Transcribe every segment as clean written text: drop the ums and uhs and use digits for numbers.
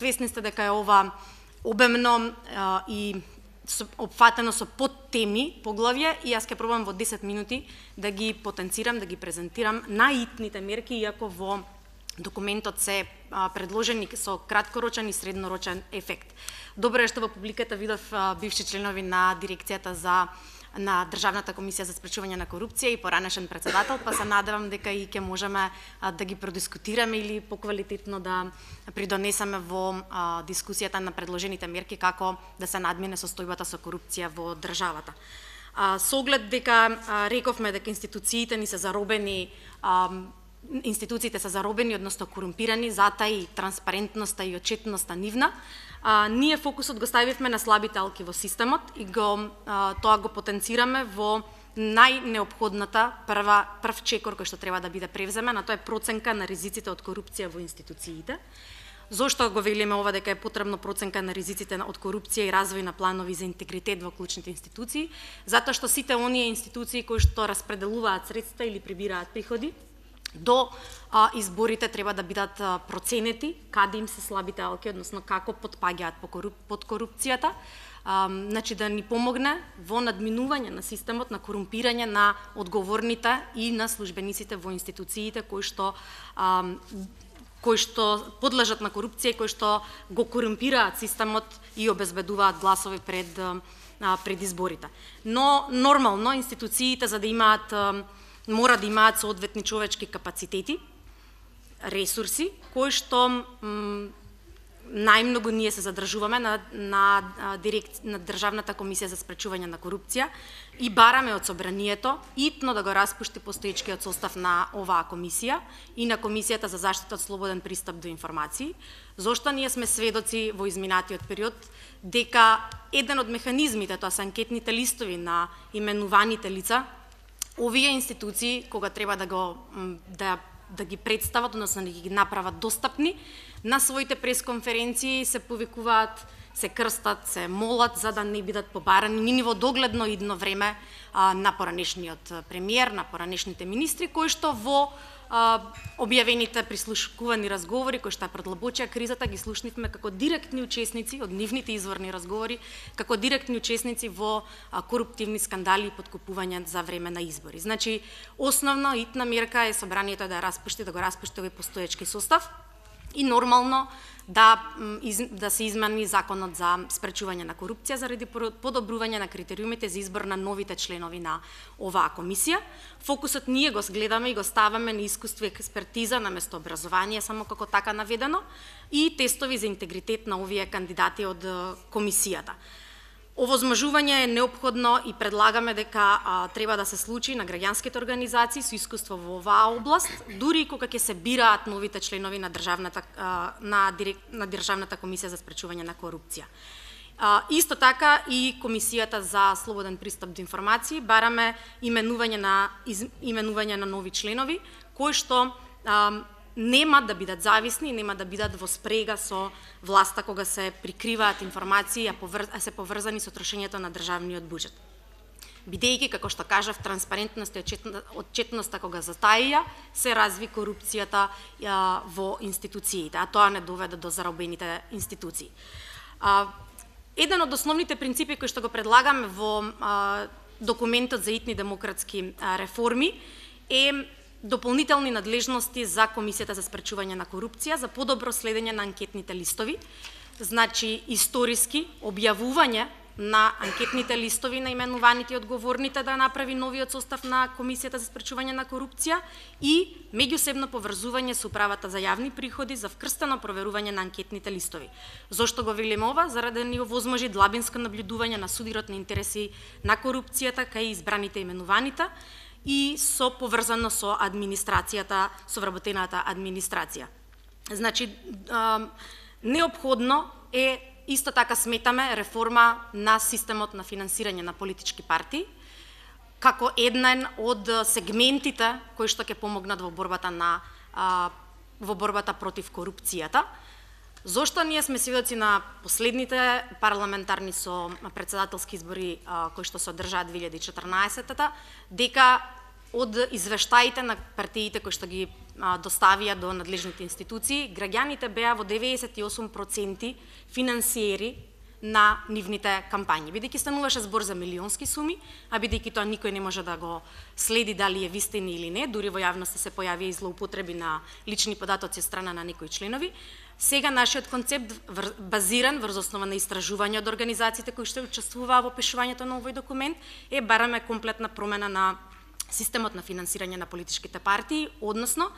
Свесни сте дека е ова обемно и опфатено со подтеми, поглавје, и јас ќе пробам во 10 минути да ги потенцирам, да ги презентирам наитните мерки, иако во документот се предложени со краткорочен и среднорочен ефект. Добро е што во публиката видов бивши членови на дирекцијата на Државната комисија за спречување на корупција и поранешен председател, па се надевам дека и ќе можеме да ги продискутираме или поквалитетно да придонесеме во дискусијата на предложените мерки како да се надмине состојбата со корупција во државата. Со оглед дека рековме дека институциите се заробени, односно корумпирани, затоа и транспарентноста и отчетноста нивна, ние фокусот го ставивме на слабите алки во системот и тоа го потенцираме во најнеопходната прв чекор кој што треба да биде превземен, а тоа е проценка на ризиците од корупција во институциите. Зошто го велиме ова дека е потребно проценка на ризиците од корупција и развој на планови за интегритет во клучните институции? Затоа што сите оние институции кои што распределуваат средства или прибираат приходи, до изборите треба да бидат проценети каде им се слабите алки, односно како потпаѓаат под корупцијата, значи да ни помогне во надминување на системот, на корумпирање на одговорните и на службениците во институциите кои што подлежат на корупција и кои што го корумпираат системот и обезбедуваат гласови пред изборите. Но нормално институциите за да мора да имаат соодветни човечки капацитети, ресурси, кои што најмногу ние се задржуваме на Државната комисија за спречување на корупција и бараме од собранието итно да го распушти постоечкиот состав на оваа комисија и на Комисијата за заштита од слободен пристап до информации. Зошто ние сме сведоци во изминатиот период дека еден од механизмите, тоа се анкетните листови на именуваните лица, овие институции кога треба да ги представат, односно да ги направат достапни на своите пресконференции, се повикуваат, се крстат, се молат за да не бидат побарани ни во догледно идно време на поранешниот премиер, на поранешните министри, кои што во објавените прислушкувани разговори кои што продлабочија кризата ги слушнивме како директни учесници од нивните изворни разговори, како директни учесници во коруптивни скандали и подкупување за време на избори. Значи, основна итна мерка е собранието да го распушти овој постоечки состав и нормално да се измени законот за спречување на корупција заради подобрување на критериумите за избор на новите членови на оваа комисија. Фокусот ние го гледаме и го ставаме на искуство и експертиза наместо образование, само како така наведено, и тестови за интегритет на овие кандидати од комисијата. Овозможување е неопходно и предлагаме дека треба да се случи на граѓанските организации со искуство во оваа област, дури и кога ќе се бираат новите членови на Државната комисија за спречување на корупција. Исто така и Комисијата за слободен пристап до информации бараме именување на нови членови кои што нема да бидат зависни, нема да бидат во спрега со власта кога се прикриваат информации, а се поврзани со трошењето на државниот буџет. Бидејќи, како што кажав, транспарентност и отчетноста кога затаија, се разви корупцијата во институциите, а тоа не доведе до заробените институции. Еден од основните принципи кои што го предлагаме во документот за итни демократски реформи е дополнителни надлежности за Комисијата за спречување на корупција, за подобро следење на анкетните листови, значи историски објавување на анкетните листови на именуваните и одговорните да направи новиот состав на Комисијата за спречување на корупција и меѓусебно поврзување со управата за јавни приходи за вкрстено проверување на анкетните листови. Зошто го велиме ова? Заради да ни овозможи длабинско наблюдување на судирот на интереси на корупцијата кај избраните и именуваните и со поврзано со администрацијата, со вработената администрација. Значи, неопходно е, исто така сметаме, реформа на системот на финансирање на политички партии, како еден од сегментите кои што ќе помогнат во борбата против корупцијата. Зошто ние сме сведоци на последните парламентарни со председателски избори кои што се одржаа 2014-та, дека од извештаите на партиите кои што ги доставија до надлежните институции, граѓаните беа во 98% финансиери на нивните кампањи. Бидејќи стануваше збор за милионски суми, а бидејќи тоа никој не може да го следи дали е вистина или не, дури во јавноста се појавија и злоупотреби на лични податоци од страна на некои членови. Сега нашиот концепт базиран врз основа на истражување од организациите кои што учествуваа во пишувањето на овој документ е бараме комплетна промена на системот на финансирање на политичките партии, односно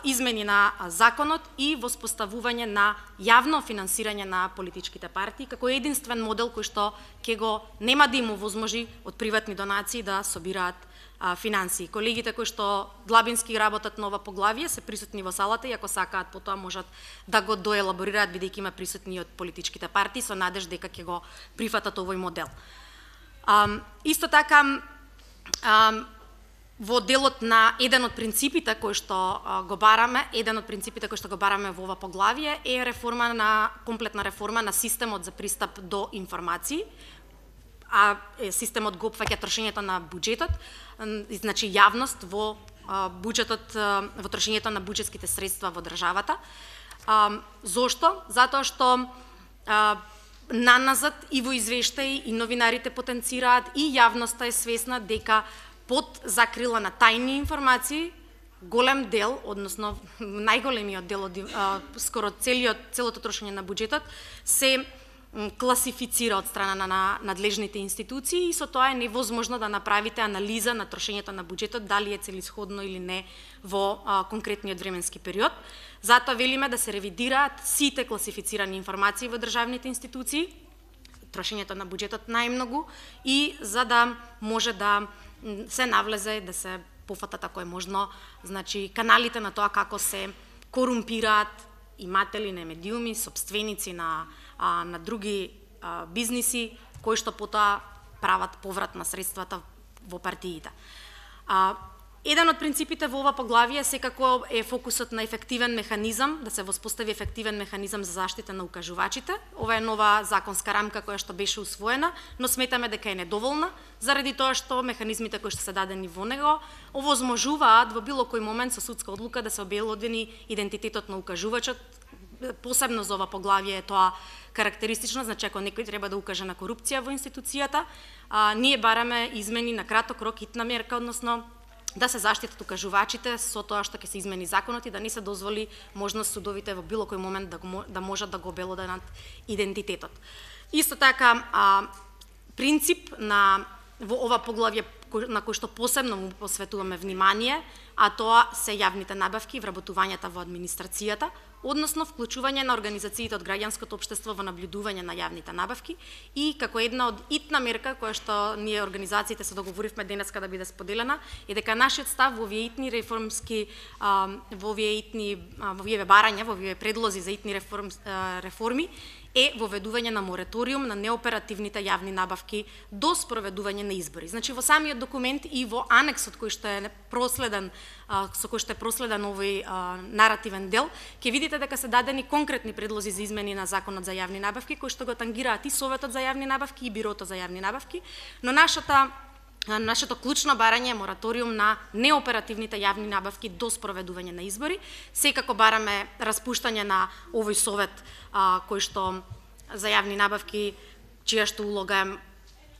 измени на законот и воспоставување на јавно финансирање на политичките партии како единствен модел кој што ќе го нема да им овозможи од приватни донации да собираат финансии. Колегите кои што длабински работат на ова поглавие се присутни во салата и ако сакаат потоа можат да го доелаборираат бидејќи има присутни од политичките партии со надеж дека ќе го прифатат овој модел. Исто така во делот на еден од принципите кои што го бараме, во ова поглавие е комплетна реформа на системот за пристап до информации, а системот го опфаќа трошењето на буџетот, значи јавност во буџетот, во трошењето на буџетските средства во државата. Зошто? Затоа што наназад и во извештаи и новинарите потенцираат и јавноста е свесна дека под закрила на тајни информации, голем дел, односно најголемиот дел од скоро целото трошење на буџетот се класифицира од страна на надлежните институции и со тоа е невозможно да направите анализа на трошењето на буџетот, дали е целисходно или не во конкретниот временски период. Затоа велиме да се ревидираат сите класифицирани информации во државните институции, трошењето на буџетот најмногу, и за да може да се навлезе, да се пофатат ако е можно, значи каналите на тоа како се корумпираат иматели на медиуми, сопственици на други бизниси, кои што потоа прават поврат на средствата во партиите. Еден од принципите во ова поглавие секако е фокусот на ефективен механизам, да се воспостави ефективен механизам за заштита на укажувачите. Ова е нова законска рамка која што беше усвоена, но сметаме дека е недоволна, заради тоа што механизмите кои што се дадени во него овозможуваат во било кој момент со судска одлука да се обелодени идентитетот на укажувачот. Посебно за ова поглавие е тоа карактеристично, значи ако некој треба да укаже на корупција во институцијата, ние бараме измени на краток рок, хитна мерка, односно да се заштитат укажувачите со тоа што ќе се измени законот и да не се дозволи можност судовите во било кој момент да можат да го обелоданат идентитетот. Исто така, принцип во ова поглавје на кој што посебно му посветуваме внимание, а тоа се јавните набавки и вработувањата во администрацијата, односно вклучување на организациите од граѓанското општество во наблюдување на јавните набавки и како една од итна мерка која што ние организациите се договоривме денеска да биде споделена, е дека нашиот став во овие итни реформски, во овие барања, во овие предлози за итни реформи е воведување на мораториум на неоперативните јавни набавки до спроведување на избори. Значи во самиот документ и во анексот кој што е проследен, со кој што е проследен овој наративен дел, ќе видите дека се дадени конкретни предлози за измени на законот за јавни набавки кои што го тангираат и Советот за јавни набавки и Бирото за јавни набавки, но нашето клучно барање е мораториум на неоперативните јавни набавки до спроведување на избори. Секако бараме распуштање на овој совет кој што за јавни набавки, чија што улога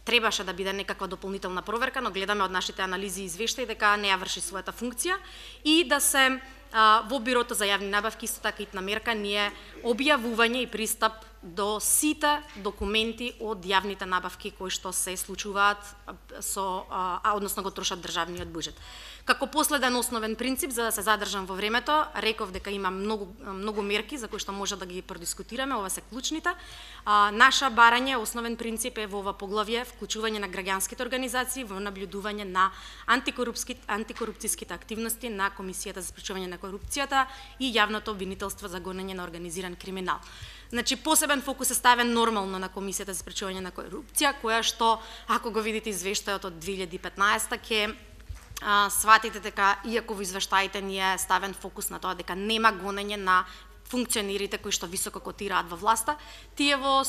требаше да биде некаква дополнителна проверка, но гледаме од нашите анализи и извештаи дека не ја врши својата функција и да се во Бирото за јавни набавки исто така итна мерка ние објавување и пристап до сите документи од јавните набавки кои што се случуваат односно го трошат државниот буџет. Како последен основен принцип, за да се задржам во времето, реков дека има многу мерки за кои што може да ги продискутираме, ова се клучните. Наша барање, основен принцип е во ова поглавје вклучување на граѓанските организации во наблюдување на антикорупцијските активности на Комисијата за спречување на корупцијата и јавното обвинителство за гонење на организиран криминал. Значи, посебен фокус е ставен нормално на Комисијата за спречување на корупција, која што, ако го видите извештајот од 2015, ќе сватите дека, иако во извештаите ни е ставен фокус на тоа дека нема гонење на функционерите кои што високо котираат во власта. Тие во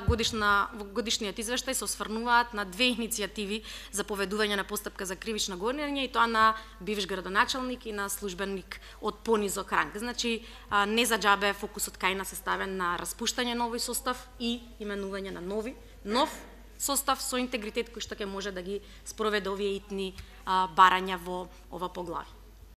годишниот извештај се осврнуваат на две иницијативи за поведување на постапка за кривично гонење, и тоа на бивш градоначалник и на службеник од понизок ранг. Значи, не за џабе фокусот кај нас е ставен на распуштање на овој состав и именување на нов состав со интегритет кој што ќе може да ги спроведе овие итни барања во ова поглавје.